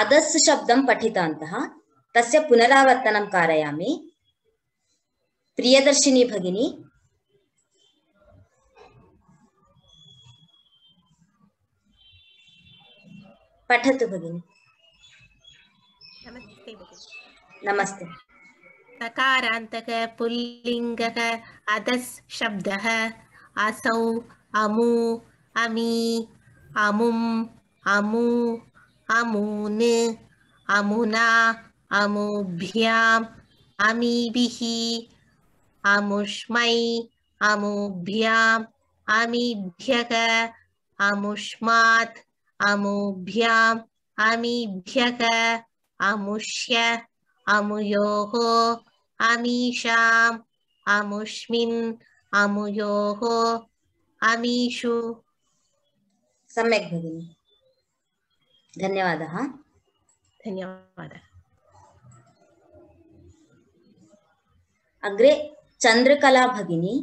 अदस् शब्दं पठितवन्तः तस्य पुनरावर्तनं कारयामि। प्रियदर्शिनी भगिनी पठतु भगिनी। नमस्ते भगिनी। नमस्ते। सकारान्तक पुल्लिङ्गः अदस् शब्दः असौ अमु अमी अमुम् अमु अमून् अमुना अमुभ्याम् अमीभिः अमुष्मै अमुभ्याम् अमीभ्यः अमुष्मात् अमुभ्याम् अमीभ्यः अमुष्य अमुयोः अमीषाम् अमुष्मिन् अमुयोः अमीषु। सम्यक् भगिनी, धन्यवादः। धन्यवादः। अग्रे चंद्रकला भगिनी।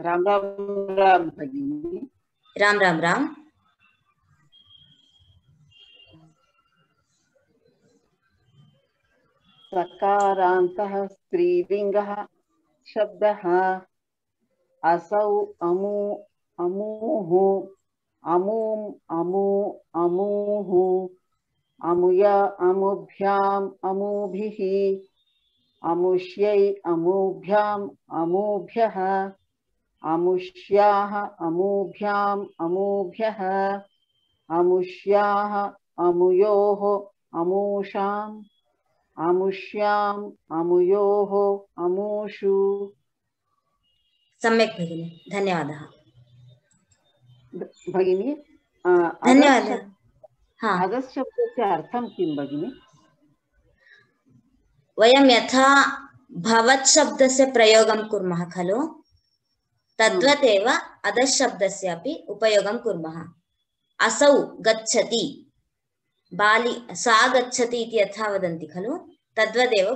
राम राम राम भगिनी। राम राम राम। सकारान्तः स्त्रीलिङ्गः शब्दः असौ अमु अमूः अमूम् अमु अमूः अमुय अमुभ्याम् अमूभिः अमुष्यै अमूभ्याम् अमूभ्यः अमुष्याः अमूभ्याम् अमूभ्यः अमुष्याः अमुयोः अमूषाम् अमुष्याम् अमुयोः अमूषु। सम्यक् भगिनी, धन्यवादः। भगिनी धन्यवादः। हाँ, अदस् शब्दस्य अर्थं किं भगिनी? वयं यथा भवत् शब्दस्य प्रयोगं कुर्मः खलु तद्वदेव अदस् शब्दस्य अपि उपयोगं कुर्मः। असौ गच्छति, बाली सा गच्छति इति यथा वदन्ति खलु तद्वदेव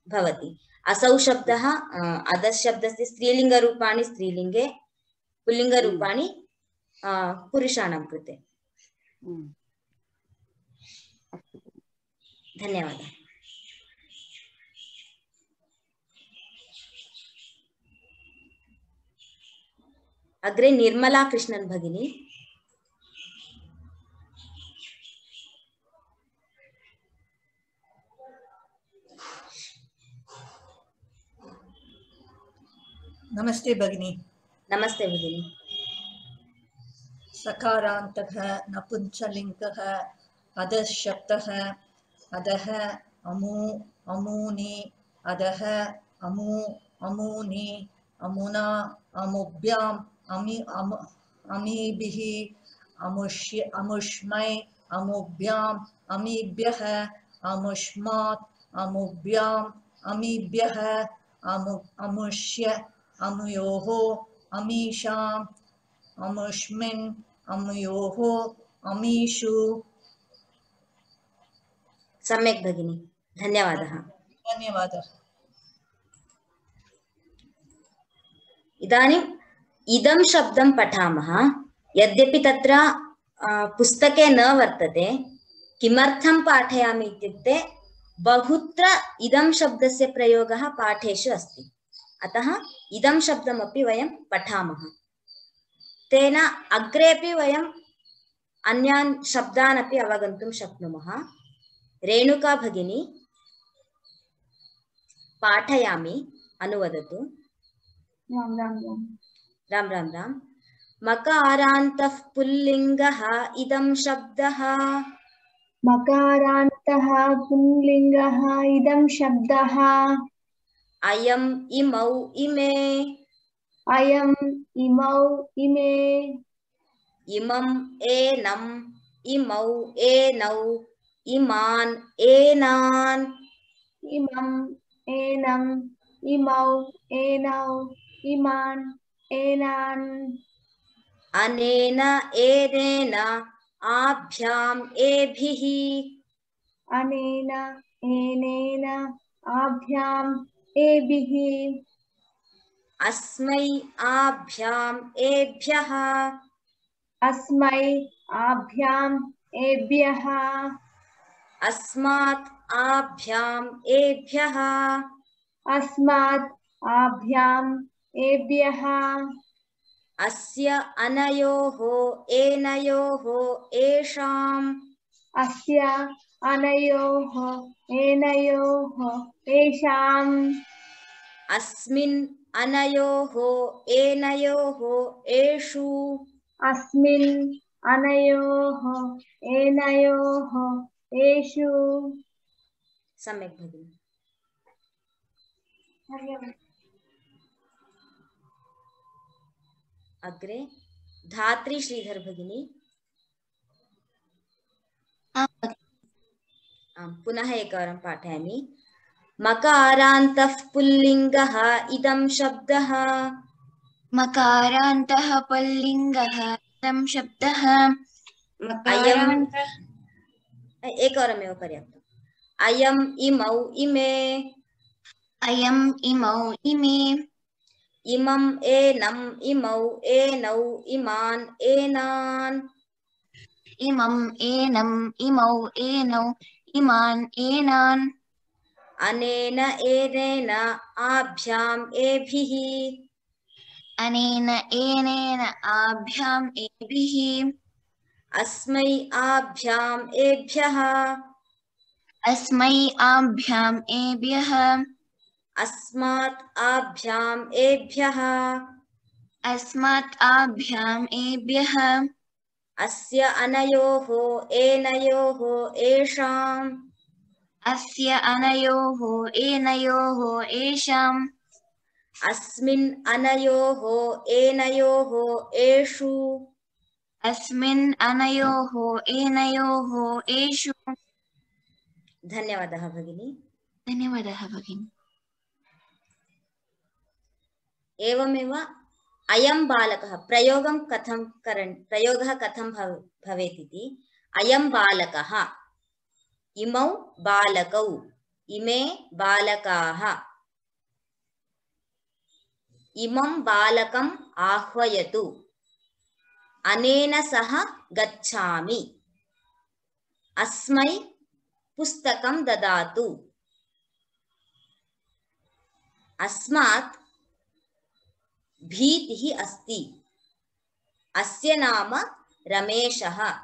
भवति। असौ शब्दः अदस् शब्दस्य स्त्रीलिङ्गरूपाणि स्त्रीलिङ्गे, पुल्लिङ्गरूपाणि पुरुषाणां कृते। धन्यवादः। अग्रे निर्मला कृष्णन् भगिनी। नमस्ते भगिनी। नमस्ते भगिनी। सकारान्तः नपुंसकलिङ्गः अदस् शब्दः अदः अमु अमूनि अदः अमु अमूनि अमुना अमुभ्याम् अमीभिः अमुष्य अमुष्मै अमुभ्याम् अमीभ्यः अमुष्मात् अमुभ्याम् अमीभ्यः अमुष्य अमुयोः अमीषाम् अमुष्मिन् अमुयोः अमीषु। सम्यक् भगिनी, धन्यवादः। धन्यवादः। इदानीम् इदं शब्दं पठामः। यद्यपि तत्र पुस्तके न वर्तते, किमर्थं पाठयामि इत्युक्ते बहुत्र इदं शब्दस्य प्रयोगः पाठेषु अस्ति, अतः इदं शब्दमपि वयं पठामः। तेन अग्रेपि वयम् अन्यान् शब्दान् अपि अवगन्तुं शक्नुमः। रेणुका भगिनी पाठयामि, अनुवदतु। राम राम राम। राम राम राम। मकारान्तः पुल्लिङ्गः इदं शब्दः। मकारान्तः पुल्लिङ्गः इदं शब्दः। अयम् इमौ इमे। अयम् इमौ इमे। इमम् एनम् इमौ एनौ इमान् एनान्। इमम् एनम् इमौ एनौ इमान् एनान्। अनेन एनेन आभ्याम् एभिः। अनेन एनेन आभ्याम् एभिः। अस्मै आभ्याम् एभ्यः अस्मै आभ्याम् एभ्यः अस्मात् आभ्याम् एभ्यः अस्मात् आभ्याम् एभ्यः अस्य अनयोः एनयोः एषाम् अस्य अनयोः एनयोः एषाम् अस्मिन् अनयोः एनयोः एषु अस्मिन् अनयोः एनयोः एषु सम्यक् भगिनि। अग्रे धात्री श्रीधर भगिनी। पुनः एकवारं पाठयामि। मकारान्तः पुल्लिङ्गः इदं शब्दः मकारान्तः पुल्लिङ्गः इदं शब्दः एकवारमेव पर्याप्तम्। अयम् इमौ इमे अयम् इमौ इमे इमम् एनम् इमौ एनौ इमान् एनान् इमम् एनम् इमौ एनौ इमान् एनान् अनेन एनेन आभ्याम् एभिः अनेन एनेन आभ्याम् एभिः अस्मै आभ्याम् एभ्यः अस्मै आभ्याम् एभ्यः अस्मात् आभ्याम् एभ्यः अस्मात् आभ्याम् एभ्यः अस्य अनयोः एनयोः एषाम् अस्य अनयोः एनयोः एषाम् अस्मिन् अनयोः एनयोः एषु अस्मिन् अनयोः एनयोः एषु। धन्यवादः भगिनी। धन्यवादः भगिनी। एवमेव अयं बालकः प्रयोगः कथं भवेत् इति। अयं बालकः, इमौ बालकौ, इमे बालकाः, इमं बालकम् आह्वयतु, अनेन सह गच्छामि, अस्मै पुस्तकं ददातु, अस्मात् भीतिः अस्ति, अस्य नाम रमेशः।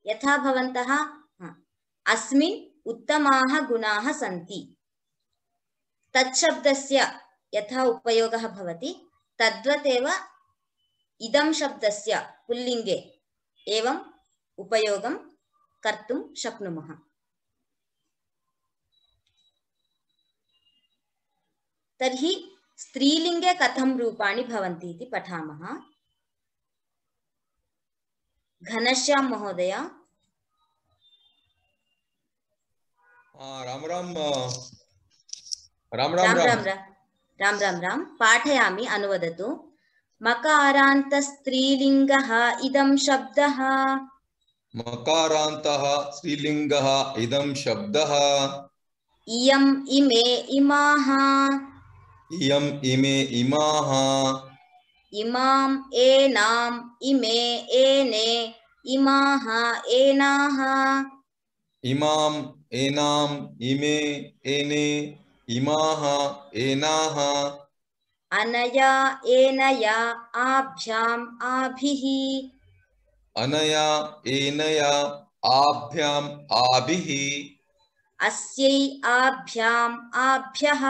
यथा भवन्तः अस्मिन् उत्तमाः गुणाः सन्ति, तच्छब्दस्य यथा उपयोगः भवति तद्वतेव इदं शब्दस्य पुल्लिङ्गे एवम् उपयोगं कर्तुं शक्नुमः। तर्हि स्त्रीलिङ्गे कथं रूपाणि भवन्ति इति पठामः। घनश्याम महोदय। राम राम पाठयामि, अनुवदतु। मकारान्तस्त्रीलिङ्गः इदं शब्दः। मकारान्तः स्त्रीलिङ्गः इदं शब्दः। इयम् इमे इमाः। इयम् इमे इमाः। इमाम् एनाम् इमे एने इमाः एनाः। इमाम् एनाम् इमे एने इमाः एनाः। अनया एनया आभ्याम् आभिः। अनया एनया आभ्याम् आभिः। अस्यै आभ्याम् आभ्यः।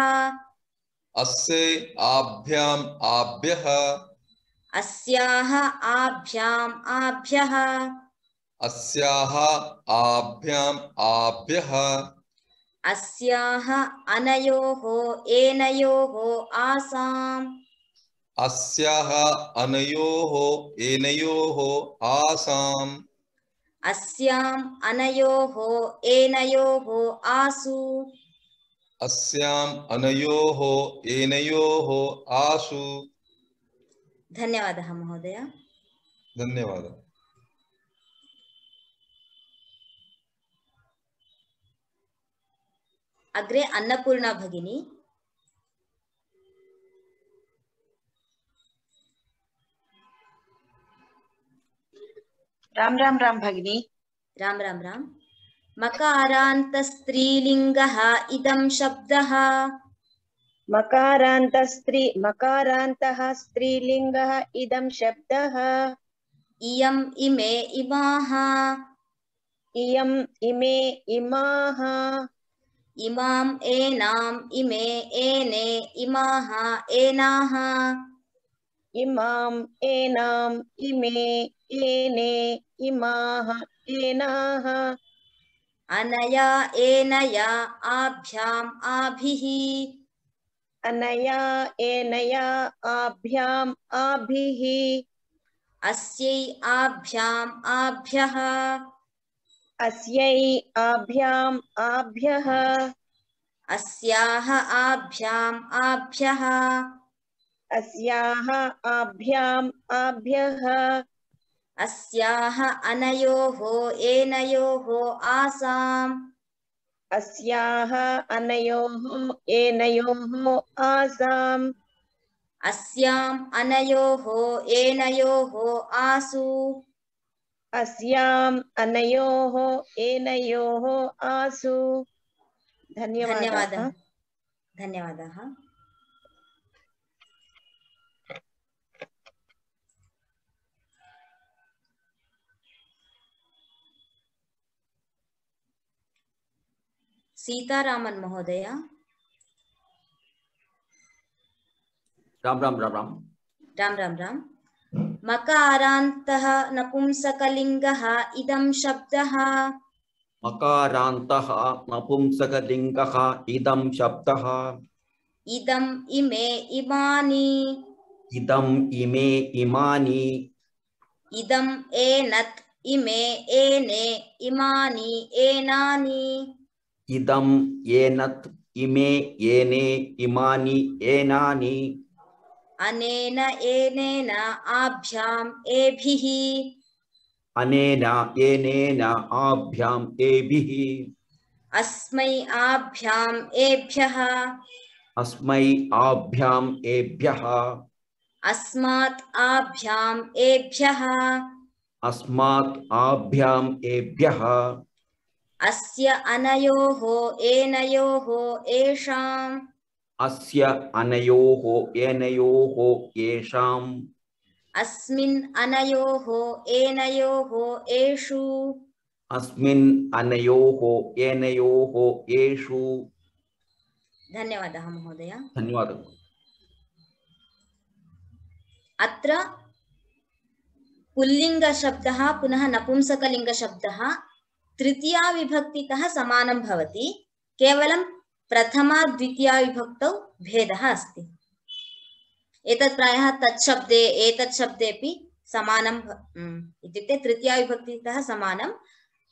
अस्यै आभ्याम् आभ्यः। अस्याः आभ्याम् आभ्यः। अस्याः आभ्याम् आभ्यः। अस्याः अनयोः एनयोः आसाम्। अस्याः अनयोः एनयोः आसाम्। अस्याम् अनयोः एनयोः आसु। अस्याम् अनयोः एनयोः आसु। धन्यवादः महोदय। धन्यवादः। अग्रे अन्नपूर्णा भगिनी। राम भगिनी। राम राम राम। मकारान्त स्त्रीलिङ्गः इदं शब्दः। मकारान्तः स्त्रीलिङ्गः इदं शब्दः। इयम् इमे इमाः। इयम् इमे इमाः। इमाम् एनाम् इमे एने इमाः एनाः। इमाम् एनाम् इमे एने इमाः एनाः। अनया एनया आभ्याम् आभिः। अनया एनया आभ्याम् आभिः। अस्यै आभ्याम् आभ्यः। अस्यै आभ्याम् आभ्यः। अस्याः आभ्याम् आभ्यः। अस्याः आभ्याम् आभ्यः। अस्याः अनयोः एनयोः आसाम्। अस्याः अनयोः एनयोः आसाम्। अस्याम् अनयोः एनयोः आसु। अस्याम् अनयोः एनयोः आसु। धन्यवादः। धन्यवादः। सीतारामन महोदय। राम राम राम राम। राम राम राम। मकारान्तः नपुंसकलिङ्गः इदं शब्दः। मकारान्तः नपुंसकलिङ्गः इदं शब्दः। इदम् इमे इमानि। इदम् इमे इमानि। इदम् एनत् इमे एने इमानि एनानि। इदम् एनत् इमे एने इमानि एनानि। अनेन एनेन आभ्याम् एभिः। अनेन एनेन आभ्याम् एभिः। अस्मै आभ्याम् एभ्यः। अस्मै आभ्याम् एभ्यः। अस्मात् आभ्याम् एभ्यः। अस्मात् आभ्याम् एभ्यः। अस्य अनयोः एनयोः एषाम्। अस्य अनयोः एनयोः येषाम्। अस्मिन् अनयोः एनयोः एषु। अस्मिन् अनयोः एनयोः येषु। धन्यवादः महोदय। धन्यवादः। अत्र पुल्लिङ्गशब्दः पुनः नपुंसकलिङ्गशब्दः तृतीया विभक्तितः समानं भवति। केवलं प्रथमा द्वितीया विभक्तौ भेदः अस्ति। एतत् प्रायः तत्शब्दे एतत् शब्देपि समानं इत्युक्ते तृतीया विभक्तितः समानं।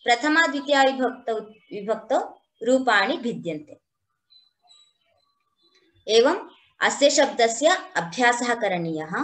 प्रथमा द्वितीया विभक्तौ रूपाणि भिद्यन्ते। एवम् अस्य शब्दस्य अभ्यासः करणीयः।